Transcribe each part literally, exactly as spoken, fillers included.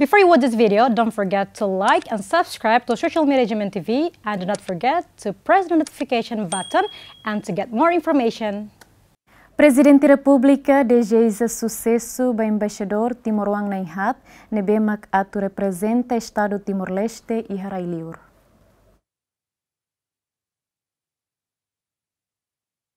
Before you watch this video, don't forget to like and subscribe to Social Media G M N T V, and do not forget to press the notification button and to get more information. Prezidente Repúblika dezeja susesu ba Embaixadór Timoroan na'in-haat, ne'ebé mak atu reprezenta Estadu Timor-Leste iha rai-liur.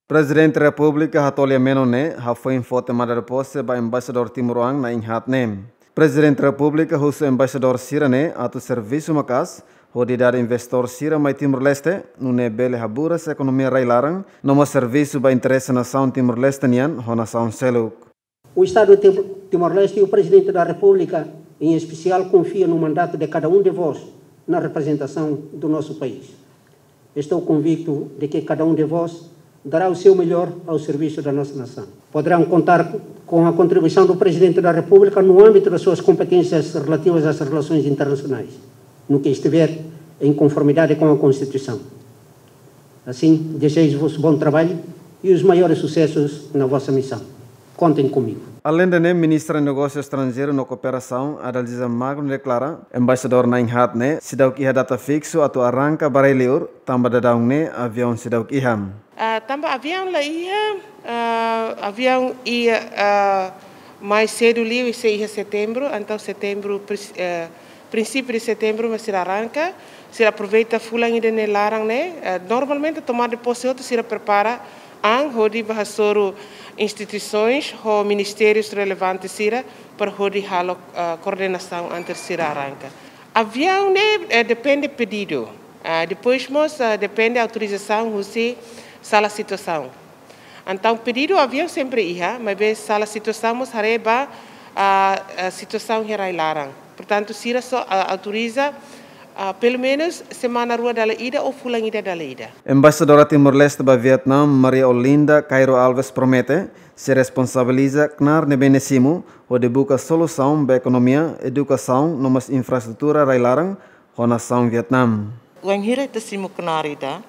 Prezidente Repúblika Hatoli Ameno ne'e hafoin fó tomada de pose ba Embaixadór Timoroan na'in-haat ne'e. Prezidente Repúblika husu embaixadór sira-ne'e atu servisu maka'as hodi dada investidór sira mai Timor-Leste, nune'e bele haburas ekonomia rai-laran, no mós servisu ba interese nasaun Timor-Leste nian ho nasaun seluk. O Estado de Timor-Leste e o Presidente da República, em especial, confia no mandato de cada um de vós na representação do nosso país. Estou convicto de que cada um de vós dará o seu melhor ao serviço da nossa nação. Poderão contar com a contribuição do Presidente da República no âmbito das suas competências relativas às relações internacionais, no que estiver em conformidade com a Constituição. Assim, desejo-vos bom trabalho e os maiores sucessos na vossa missão. Contem comigo. Alende ne'e, Ministra Negósiu Estranjeiru no Kooperasaun, Adalgisa Magno, deklara, embaixadór na'in-haat ne'e seidauk iha data fiksu atu arranka ba rai-liur, tanba daudaun ne'e aviaun seidauk iha. Ah, tanba aviaun la iha, ah, aviaun iha, ah, mais sedu liu, sei iha setembru, entaun setembru, pris-, eh, prinsípiu de setembru mak sira arranka, sira aproveita fulan ida-ne'e laran ne'e, eh, normalmente tomada de pose hotu sira prepara an hodi bá hasoru instituisoens ho ministérius relevante sira para hodi halo, eh, koordenasaun antes sira arranka. Aviaun ne'e, eh, depende pedidu. Ah, depois mós, ah, depende autorizasaun husi sala situasaun. Entaun, pedidu aviaun sempre iha, maibé sala situasaun mós haree ba, ah, ah, situasaun iha rai-laran. Portantu, sira só, ah, autoriza, ah, pelumenus semana rua dala ida ou fulan ida dala ida. Embaixadora Timor-Leste ba Vietname, Maria Olinda Cairo Alves, promete sei responsabiliza knaar ne'ebé nia simu hodi buka solusaun ba ekonomia, edukasaun no mós infraestrutura rai-laran ho nasaun Vietname. Wainhira ita simu knaar ida,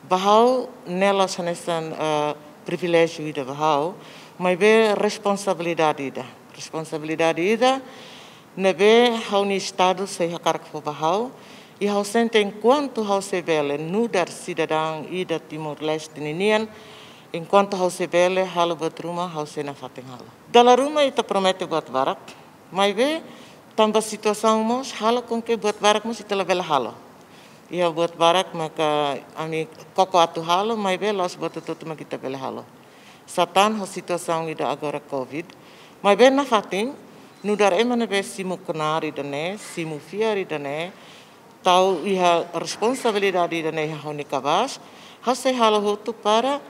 ba ha'u ne'e la'ós hanesan, eh, priviléjiu ida ba ha'u, maibé responsabilidade ida. Responsabilidade ida ne'ebé ha'u-nia Estadu sei hakarak fó ba ha'u, i ha'u sente enkuantu ha'u sei bele nu'udar sidadaun ida Timor-Leste ninian, enkuantu ha'u sei bele halo buat ruma, ha'u sei nafatin halo. Dala ruma ita promete buat barak, maibé tanba situasaun mós halo com que buat barak mós ita labele halo. Iha buat barak maka ami koko atu halo, maibé la'ós buat hotu-hotu mak ita bele halo. Sá tan ho situasaun ida agora covid. Maibé nafatin, nu'udar ema ne'ebé simu knaar ida-ne'e, simu fiar ida-ne'e, tau iha responsabilidade ida-ne'e iha ha'u-nia kabaas, ha'u sei halo hotu para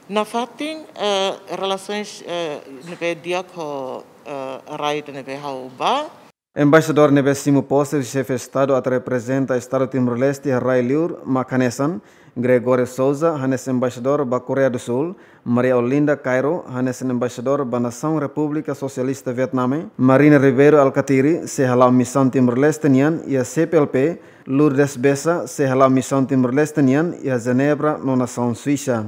nafatin, eh, relasoens, eh, ne'ebé di'ak ho, eh, rai ida ne'ebé ha'u bá. Embaixadór ne'ebé simu pose husi Xefe Estadu atu reprezenta Estadu Timor-Leste iha rai-liur mak hanesan Gregório Sousa hanesan embaixadór ba Koreia do Sul, Maria Olinda Cairo hanesan embaixadór ba nasaun Repúblika Sosialista Vietname, Marina Ribeiro Alkatiri sei hala'o misaun Timor-Leste nian iha C P L P, Lourdes Bessa sei hala'o misaun Timor-Leste nian iha Jenebra no nasaun Suisa.